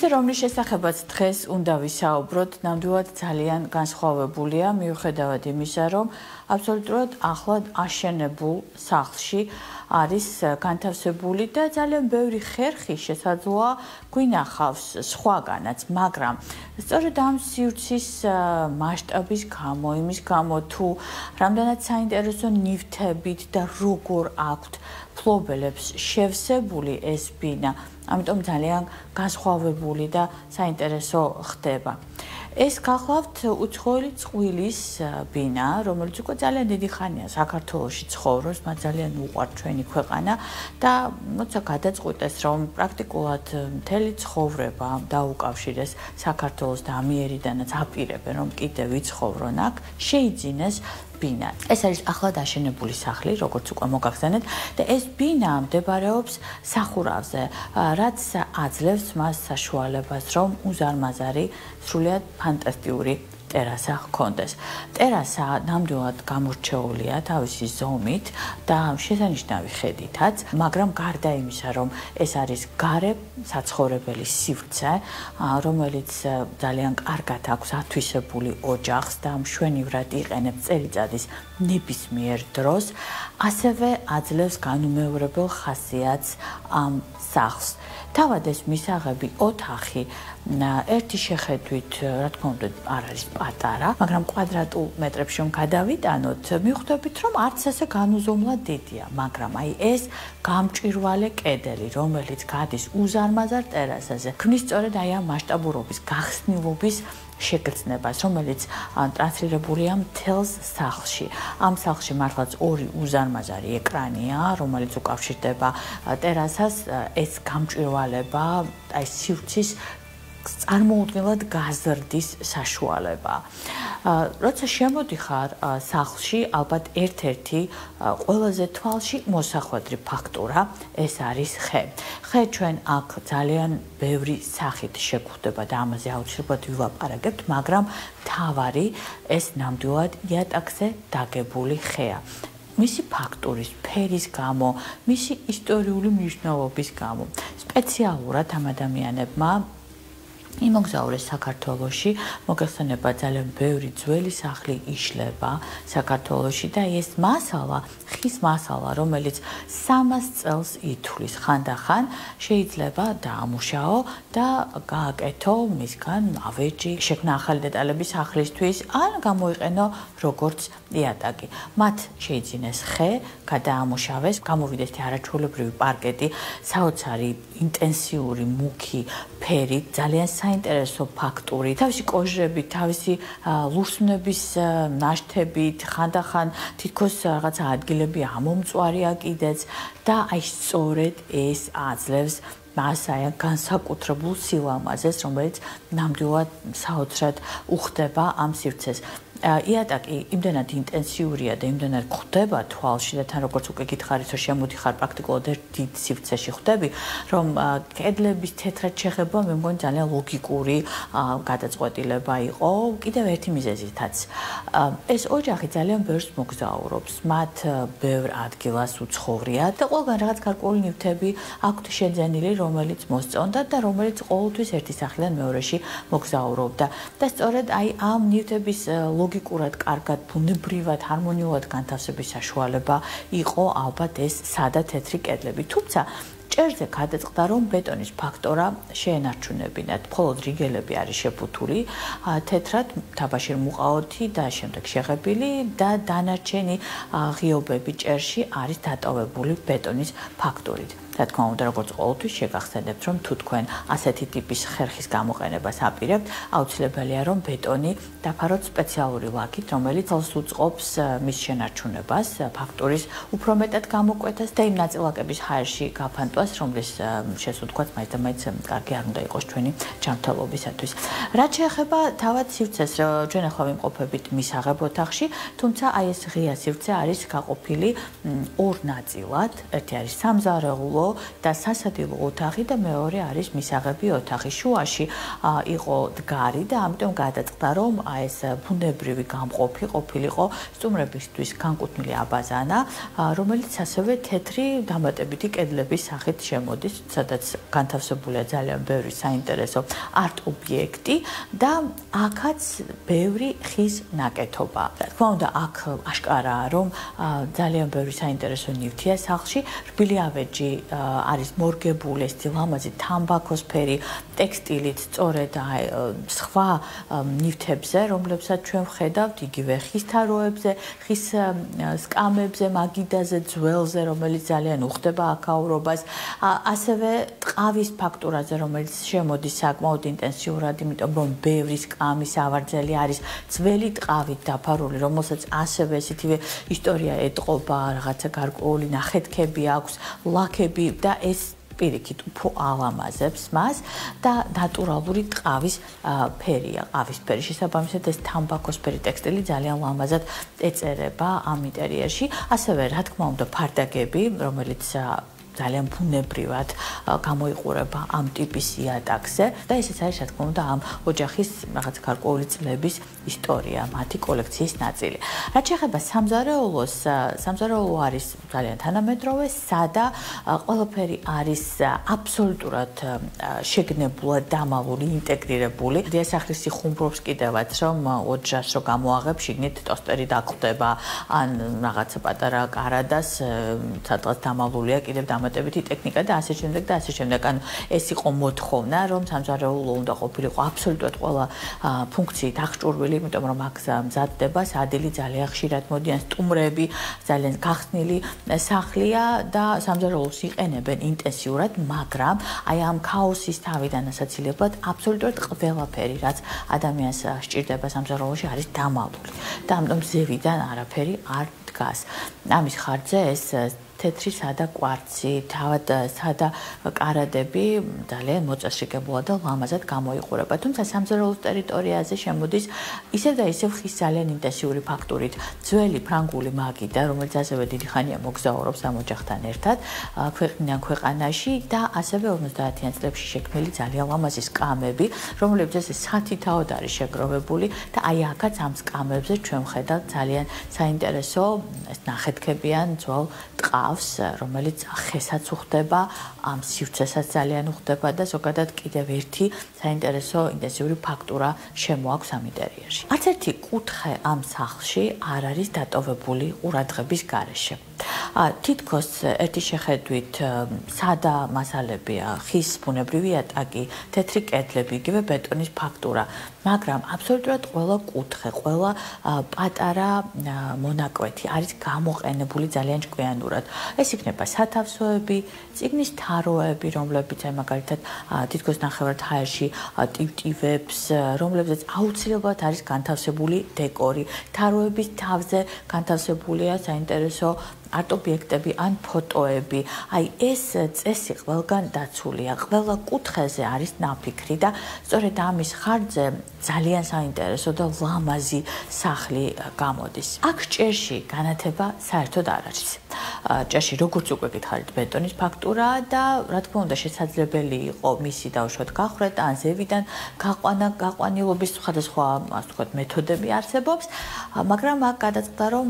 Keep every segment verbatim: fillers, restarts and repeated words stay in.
სივრცე, რომლის შესახებაც დღეს უნდა ვისაუბროთ, ნამდვილად ძალიან განსხვავებულია, მიუხედავად იმისა, რომ აბსოლუტურად ახლად აშენებულ სახლში არის განთავსებული და ძალიან ბევრი ხერხი შესაძლოა გვინახავს სხვაგანაც, მაგრამ სწორედ ამ სივრცის მასშტაბის გამო, იმის გამო თუ რამდენად საინტერესო ნივთებით და როგორ აქვთ ფლობელებს შევსებული ეს ბინა, ამიტომ ძალიან განსხვავებული და საინტერესო ხდება. ეს გახლავთ უცხოელი წყვილის ბინა, რომელიც უკვე ძალიან დიდი ხანია საქართველოში ცხოვრობს, მათ ძალიან უყვართ ჩვენი ქვეყანა და როცა გადაწყვიტეს, რომ პრაქტიკულად მთელი ცხოვრება დაუკავშირეს საქართველოს და ამიერიდანაც აპირებენ, რომ კიდევ ვიცხოვრონ აქ, შეიძინეს ბინა. ეს არის ახლად აშენებული სახლი, როგორც უკვე მოგახსენეთ და ეს ბინა მდებარეობს სახურავზე, რაც აძლევს მას საშუალებას, რომ უზარმაზარი, სრულიად ფანტასტიკური ტერასა ჰქონდეს. ტერასა ნამდვილად გამორჩეულია თავისი ზომით და შესანიშნავი ხედითაც, მაგრამ გარდა იმისა, რომ ეს არის გარე საცხოვრებელი სივრცე, რომელიც ძალიან კარგად აქვს ათვისებული ოჯახს და მშვენივრად იყენებს წელიწადის ნებისმიერ დროს, ასევე აძლევს განუმეორებელ ხასიათს ამ სახლს. თავად ეს მისაღები ოთახი ერთი შეხედვით, რა თქმა უნდა, არ არის პატარა, მაგრამ კვადრატულ მეტრებში რომ გადავიტანოთ, მივხვდებით, რომ არც ასე განუზომლად დიდია, მაგრამ აი ეს გამჭვირვალე კედელი, რომელიც გადის უზარმაზარ ტერასაზე, ქმნის სწორედ აი ამ მასშტაბურობის, გახსნილობის შეგრძნებას, რომელიც ტრანსლირებულია მთელს სახლში. ამ სახლში მართლაც ორი უზარმაზარი ეკრანია, რომელიც უკავშირდება ტერასას, ეს გამჭვირვალება, აი სივრცის წარმოუდგენლად გაზრდის საშუალება. როცა შემოდიხარ სახლში, ალბათ ერთ-ერთი ყველაზე თვალში მოსახვედრი ფაქტორა ეს არის ხე. ხე ჩვენ აქ ძალიან ბევრი სახით შეგვხვდება და ამაზე აუცილებლად ვილაპარაკებთ, მაგრამ მთავარი ეს ნამდვილად იატაკზე დაგებული ხეა. მისი ფაქტურის, ფერის გამო, მისი ისტორიული მნიშვნელობის გამო. სპეციალურად ამ ადამიანებმა იმოგზაურეს საქართველოში, მოგეხსენება ძალიან ბევრი ძველი სახლი იშლება საქართველოში და ეს მასალა, ხის მასალა, რომელიც სამას წელს ითვლის ხანდახან, შეიძლება დაამუშაო და გააკეთო მისგან ავეჯი, შექმნა ახალი დეტალები სახლისთვის, ან გამოიყენო როგორც იატაკი. მათ შეიძინეს ხე, გადაამუშავეს, გამოვიდეს არაჩვეულებრივი პარკეტი, საოცარი, ინტენსიური, მუქი ფერი, ძალიან საინტერესო ფაქტური, თავისი კოჟრებით, თავისი ლურსმნების ნაშთებით, ხანდახან თითქოს რაღაცა ადგილები ამომწვარია კიდეც და აი სწორედ ეს აძლევს მას აი განსაკუთრებულ სილამაზეს, რომელიც ნამდვილად საოცრად უხდება ამ სივრცეს. იატაკი იმდენად ინტენსიურია და იმდენად ხვდება თვალში და თან როგორც უკვე გითხარით, რომ შემოდიხარ პრაქტიკულად ერთ დიდ სივრცეში ხვდები, რომ კედლების თეთრად შეხება მე მგონი ძალიან ლოგიკური გადაწყვეტილება იყო, კიდევ ერთი მიზეზითაც. ეს ოჯახი ძალიან ბევრს მოგზაურობს, მათ ბევრ ადგილას უცხოვრიათ და ყველგან რაღაც გარკვეული ნივთები აქვთ შეძენილი, რომელიც მოსწონდათ და რომელიც ყოველთვის ერთი სახლიდან მეორეში მოგზაურობდა. და სწორედ აი ამ ნივთების ლოგიკურად, კარგად, ბუნებრივად, ჰარმონიულად განთავსების საშუალება იყო ალბათ ეს სადა თეთრი კედლები. თუმცა ჭერზე გადაწყდა, რომ ბეტონის ფაქტორა შეენარჩუნებინათ. მხოლოდ რიგელები არის შეფუთული, თეთრად, თაბაშირ მუყაოთი და შემდეგ შეღებილი და დანარჩენი ღიობები ჭერში არის დატოვებული ბეტონის ფაქტორით. რა თქმა უნდა, როგორც ყოველთვის შეგახსენებთ, რომ თუ თქვენ ასეთი ტიპის ხერხის გამოყენებას აპირებთ, აუცილებელია, რომ ბეტონი დაფაროთ სპეციალური ლაქით, რომელიც ხელს უწყობს მის შენარჩუნებას, ფაქტურის უფრო მეტად გამოკვეთას და იმ ნაწილაკების ჰაერში გაფანტვას, რომლის შესუდგაც მაინც და მაინც კარგი არ უნდა იყოს ჩვენი ჯანმრთელობისათვის. რაც შეეხება თავად სივრცეს, ჩვენ ახლა ვიმყოფებით მისაღებ ოთახში, თუმცა აი ეს ღია სივრცე არის გაყოფილი ორ ნაწილად, ერთი არის სამზარეულო სადილო და სასადილო ოთახი და მეორე არის მისაღები ოთახი. შუაში იყო დგარი და ამიტომ გადაწყდა რომ ეს ბუნებრივი გამყოფი ყოფილიყო სტუმრებისთვის განკუთვნილი აბაზანა, რომელიც ასევე თეთრი დამატებითი კედლების სახით შემოდის, სადაც განთავსებულია ძალიან ბევრი საინტერესო არტ ობიექტი და აქაც ბევრი ხის ნაკეთობა. რა თქმა უნდა, აქ აშკარაა, რომ ძალიან ბევრი საინტერესო ნივთია სახლში. რბილი ავეჯი არის მორგებული, ეს ლამაზი თამბაქოსფერი ტექსტილით, სწორედ სხვა ნივთებზე, რომლებსაც ჩვენ ვხედავთ, იგივე ხის თაროებზე, ხის სკამებზე, მაგიდაზე, ძველზე, რომელიც ძალიან უხდება აქაურობას, ასევე ტყავის ფაქტურაზე, რომელიც შემოდის საკმაოდ ინტენსიურად, იმიტომ რომ ბევრი სკამი სავარძელი არის ძველი ტყავით დაფარული, რომელსაც ასევე ესეთივე ისტორია ეტყობა, რაღაცა გარკვეული ნახეთქები აქვს, ლაქები და ეს პირიქით უფრო ალამაზებს მას და ნატურალური ტყავის ფერია, ყავისფერი. შესაბამისად ეს თამბაქოსფერი ტექსტილი ძალიან ლამაზად ეწერება ამ ინტერიერში. ასევე რა თქმა უნდა ფარდაგები, რომელიც ძალიან ბუნებრივად გამოიყურება ამ ტიპის იატაკზე და ესეც არის რა თქმა უნდა ამ ოჯახის რაღაც გარკვეული წლების ისტორია, მათი კოლექციის ნაწილი. რაც შეეხება სამზარეულოს, სამზარეულო არის ძალიან თანამედროვე, სადა, ყველაფერი არის აბსოლუტურად შეგნებულად დამალული, ინტეგრირებული. დიასახლისი ხუმრობს კიდევაც, რომ ოჯახს რო გამოაღებ, შიგნით ტოსტერი დაგხვდება, ან რაღაცა პატარა კარადას, სადღაც დამალულია კიდევ დამატებითი ტექნიკა და ასე შემდეგ და ასე შემდეგ. ანუ ეს იყო მოთხოვნა, რომ სამზარეულო უნდა ყოფილიყო აბსოლუტურად ყველა ფუნქციით აღჭურვილი, იმიტომ რომ აქ მზადდება სადილი ძალიან ხშირად მოდიან სტუმრები, ძალიან გახსნილი სახლია და სამზარეულოს იყენებენ ინტენსიურად, მაგრამ აი ამ ქაოსის თავიდან ასაცილებლად აბსოლუტურად ყველაფერი, რაც ადამიანს სჭირდება სამზარეულოში, არის დამალული. და ამიტომ ზევიდან არაფერი არ დგას. ამის ხარჯზე ეს თეთრი სადა კვარცი, თავად სადა კარადები ძალიან მოწესრიგებულად და ლამაზად გამოიყურება. თუმცა სამზარეულოს ტერიტორიაზე შემოდის ისევ და ისევ ხის ძალიან ინტენსიური ფაქტურით ძველი ფრანგული მაგიდა, რომელიც ასევე დიდი ხანია მოგზაურობს ამ ოჯახთან ერთად ქვეყნიდან ქვეყანაში და ასევე ორმოცდაათიან წლებში შექმნილი ძალიან ლამაზი სკამები, რომლებზეც სათითაოდ არის შეგროვებული და აი აქაც ამ სკამებზე ჩვენ ვხედავთ ძალიან საინტერესო ნახეთქებიან ძველ ტყავს, რომელიც ხესაც უხდება, ამ სივრცესაც ძალიან უხდება და ზოგადად კიდევ ერთი საინტერესო ინტენსიური ფაქტურა შემოაქვს ამ ინტერიერში. არც ერთი კუთხე ამ სახლში არ არის დატოვებული ყურადღების გარეშე. თითქოს ერთი შეხედვით სადა მასალებია, ხის ბუნებრივი იატაკი, თეთრი კედლები, იგივე ბეტონის ფაქტურა, მაგრამ აბსოლუტურად ყველა კუთხე, ყველა პატარა მონაკვეთი არის გამოყენებული ძალიან ჭკვიანურად. ეს იქნება სათავსოები, წიგნის თაროები, რომლებიც აი მაგალითად თითქოს ნახევარად ჰაერში ტივტივებს, რომლებზეც აუცილებლად არის განთავსებული დეკორი. თაროების თავზე განთავსებულია საინტერესო არტ ობიექტები ან ფოტოები. აი ეს წესი ყველგან დაცულია, ყველა კუთხეზე არის ნაფიქრი და სწორედ ამის ხარჯზე ძალიან საინტერესო და ლამაზი სახლი გამოდის. აქ ჭერში განათება საერთოდ არ არის. ჭერში როგორც უკვე გითხარით ბეტონის ფაქტურაა და რა თქმა უნდა შესაძლებელი იყო მისი დავუშვათ გახრეტა ან ზევიდან გაყვანა, გაყვანილობის სხვადასხვა ასე ვთქვათ მეთოდები არსებობს, მაგრამ აქ გადაწყდა რომ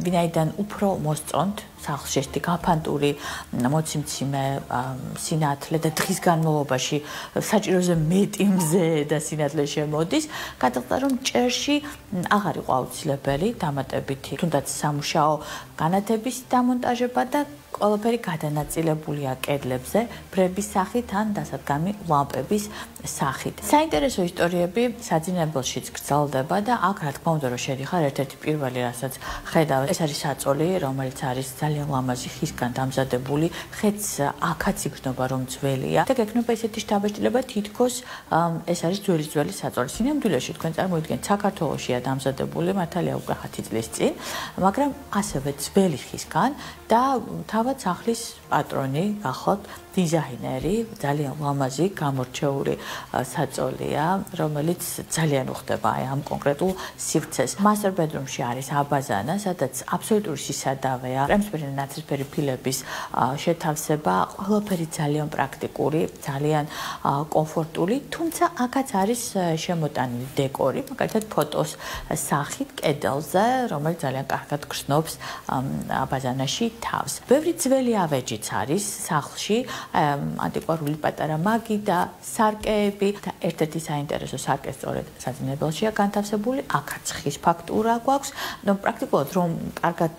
ვინაიდან უფრო მოსწონთ სახლში ესეთი გაფანტური მოციმციმე სინათლე და დღის განმავლობაში საჭიროზე მეტი მზე და სინათლე შემოდის, გადაწყდა რომ ჭერში აღარ იყო აუცილებელი დამატებითი თუნდაც სამუშაო განათების დამონტაჟება და ყველაფერი გადანაწილებულია კედლებზე, ბრების სახით ან დასადგამი ლამპების სახით. საინტერესო ისტორიები საძინებელშიც გრძელდება და აქ რა თქმა უნდა რომ შედიხარ ერთ-ერთი პირველი რასაც ხედავ, ეს არის საწოლი, რომელიც არის ძალიან ლამაზი ხისგან დამზადებული, ხეც აქაც იგრძნობა რომ ძველია და გექნება ესეთი შთაბეჭდილება თითქოს ეს არის ძველი ძველი საწოლი. სინამდვილეში თქვენ წარმოიდგენთ საქართველოშია დამზადებული მართალია უკვე ათი წლის წინ, მაგრამ ასევე ძველი ხისგან და თავად სახლის პატრონი გახლავთ დიზაინერი, ძალიან ლამაზი, გამორჩეული საწოლია, რომელიც ძალიან უხდება აი ამ კონკრეტულ სივრცეს. Master bedroom-ში არის აბაზანა, სადაც აბსოლუტური სისადავეა, კრემსფერი ნაცრისფერი ფილების შეთავსება, ყველაფერი ძალიან პრაქტიკული, ძალიან კომფორტული, თუმცა აქაც არის შემოტანილი დეკორი, მაგალითად ფოტოს სახით კედელზე, რომელიც ძალიან კარგად გრძნობს აბაზანაში თავს. ბევრი ძველი ავეჯიც არის სახლში, ანტიკვარული პატარა მაგი და სარკეები და ერთ-ერთი საინტერესო სარკე სწორედ საძინებელშია განთავსებული, აქაც ხის ფაქტურა გვაქვს. ნუ პრაქტიკულად რომ კარგად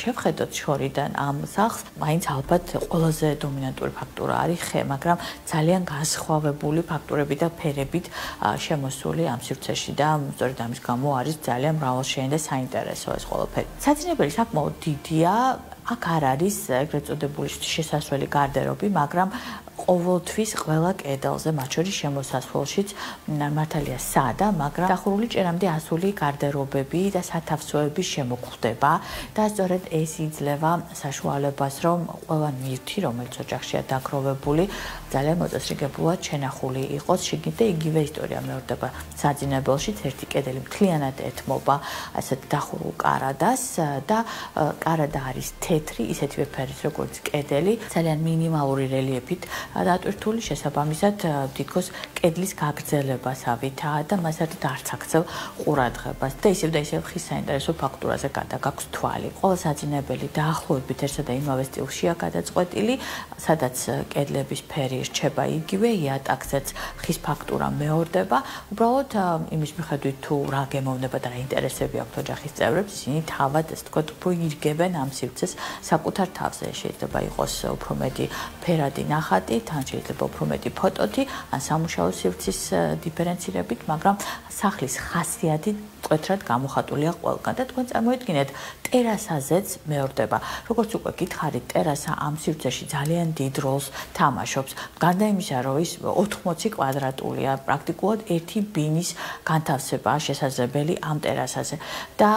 შევხედოთ შორიდან ამ სახლს, მაინც ალბათ ყველაზე დომინანტური ფაქტურა არის ხე, მაგრამ ძალიან განსხვავებული ფაქტურები და ფერებით შემოსული ამ სივრცეში და სწორედ ამის გამო არის ძალიან მრავალშეინი და საინტერესო ეს ყველაფერი. საძინებელი საკმაოდ დიდია, აქ არ არის ეგრეთ წოდებული შესასვლელი გარდერობი, მაგრამ ყოველთვის ყველა კედელზე, მათ შორის შემოსასვლელშიც მართალია სადა, მაგრამ დახურული ჭერამდე ასული გარდერობები და სათავსოები შემოგხვდება და სწორედ ეს იძლევა საშუალებას, რომ ყველა ნივთი, რომელიც ოჯახშია დაგროვებული, ძალიან მოწესრიგებულად შენახული იყოს შიგნით და იგივე ისტორია მეორდება საძინებელშიც, ერთი კედელი მთლიანად ეთმობა ასეთ დახურულ კარადას და კარადა არის თეთრი, ისეთივე ფერის როგორც კედელი, ძალიან მინიმალური რელიეფით დატვირთული, შესაბამისად თითქოს კედლის გაგრძელებასავითაა და მას ერთად არც აქცევ ყურადღებას და ისევ და ისევ ხის საინტერესო ფაქტურაზე გადაგაქვს თვალი. ყველა საძინებელი დაახლოებით ერთსა და იმავე სტილშია გადაწყვეტილი, სადაც კედლების ფერი რჩება იგივე, იატაკზეც ხის ფაქტურა მეორდება. უბრალოდ იმის მიხედვით თუ რა გემოვნება და რა ინტერესები აქვთ ოჯახის წევრებს, ისინი თავად ასე ვთქვათ, უფრო ირგებენ ამ სივრცეს საკუთარ თავზე. შეიძლება იყოს უფრო მეტი ფერადი ნახატი, თან შეიძლება უფრო მეტი ფოტოთი, ან სამუშაო სივრცის დიფერენცირებით, მაგრამ სახლის ხასიათი მკვეთრად გამოხატულია ყველგან და თქვენ წარმოიდგინეთ, ტერასაზეც მეორდება. როგორც უკვე გითხარით, ტერასა ამ სივრცეში ძალიან დიდ როლს თამაშობს. გარდა იმისა, რომ ის ოთხმოცი კვადრატულია, პრაქტიკულად ერთი ბინის განთავსებაა შესაძლებელი ამ ტერასაზე და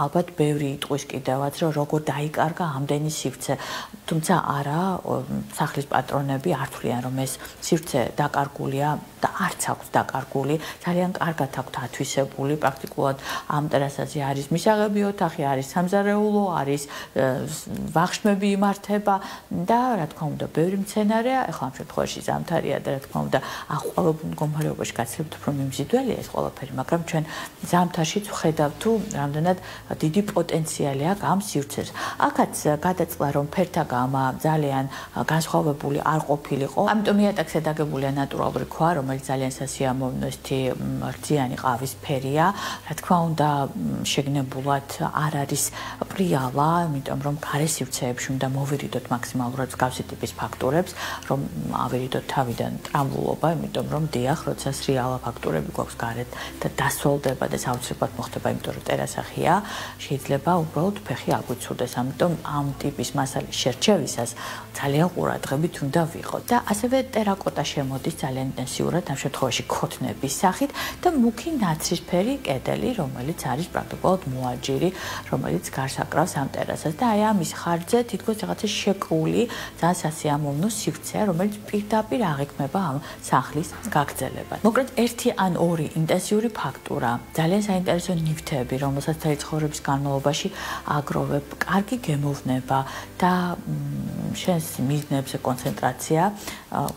ალბათ ბევრი იტყვის კიდევაც, რომ როგორ დაიკარგა ამდენი სივრცე. თუმცა არა, სახლის პატრონები არ თვლიან, რომ ეს სივრცე დაკარგულია და არც აქვს დაკარგული, ძალიან კარგად აქვთ ათვისებული, პრაქტიკულად ამ ტერასაზე არის მისაღები ოთახი, არის სამზარეულო, არის ვახშმები იმართება და რა თქმა უნდა, ბევრი მცენარეა, ეხლა ამ შემთხვევაში ზამთარია და რა თქმა უნდა, აღყვავებულ მდგომარეობაში გაცლებთ უფრო მიმზიდველია ეს ყველაფერი, მაგრამ ჩვენ ზამთარშიც ვხედავთ თუ რამდენად დიდი პოტენციალი აქვს ამ სივრცეს. აქაც გადაწყდა, რომ ფერთა გამა ძალიან განსხვავებული არ ყოფილიყო, ამიტომ იატაკზე დაგებულია ნატურალური ქვა, რომელიც ძალიან სასიამოვნოა, რძიანი ყავის ფერია. რა თქმა უნდა, შეგნებულად არ არის პრიალა, იმიტომ რომ გარე სივრცეებში უნდა მოვირიდოთ მაქსიმალურად მსგავსი ტიპის ფაქტურებს, რომ ავირიდოთ თავიდან ტრამბულობა, იმიტომ რომ დიახ, როცა სრიალა ფაქტურები გვაქვს გარეთ და დასოლდება და საოცრებად მოხდება, იმიტომ რომ ტერასახია, შეიძლება უბრალოდ ფეხი აგვიცურდეს. ამიტომ ამ ტიპის მასალის შერჩევისას ძალიან ყურადღებით უნდა ვიყოთ. და ასევე ტერაკოტა შემოდის ძალიან ინტენსიურად ამ შემთხვევაში ქოთნების სახით და მუქი ნაცრისფერი კედელი, რომელიც არის პრაქტიკულად მოაჯირი, რომელიც გარს აკრავს ამ ტერასას და აი ამის ხარჯზე თითქოს რაღაცა შეკრული, ძალიან სასიამოვნო სივრცეა, რომელიც პირდაპირ აღიქმება ამ სახლის გაგრძელებად. მოკლედ ერთი ან ორი ინტენსიური ფაქტურა, ძალიან საინტერესო ნივთები, რომელსაც მთელი ცხოვრების განმავლობაში აგროვებ, კარგი გემოვნება და შენს მიზნებზე კონცენტრაცია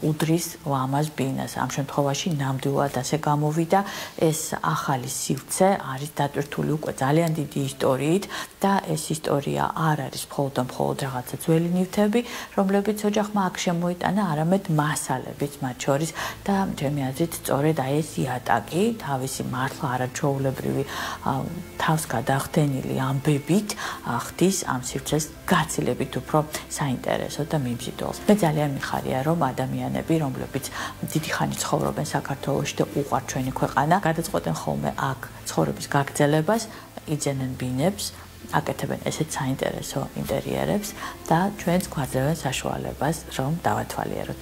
უდრის ლამაზ ბინას. ამ შემთხვევაში ნამდვილად ასე გამოვიდა, ეს ახალი სივრცე არის დატვირთული უკვე ძალიან დიდი ისტორიით და ეს ისტორია არ არის მხოლოდ და მხოლოდ რაღაცა ძველი ნივთები, რომლებიც ოჯახმა აქ შემოიტანა, არამედ მასალებიც მათ შორის და ჩემი აზრით სწორედ აი ეს იატაკი თავისი მართლა არაჩვეულებრივი თავს გადახდენილი ამბებით ხდის ამ სივრცეს გაცილებით უფრო საინტერესო და მიმზიდველს. მე ძალიან მიხარია, რომ ადამიანები, რომლებიც დიდი ხანი ცხოვრობენ საქართველოში და უყვართ ჩვენი ქვეყანა, გადაწყვეტენ ხოლმე აქ ცხოვრების გაგრძელებას, იძენენ ბინებს, აკეთებენ ესეთ საინტერესო ინტერიერებს და ჩვენს გვაძლევენ საშუალებას, რომ დავათვალიეროთ.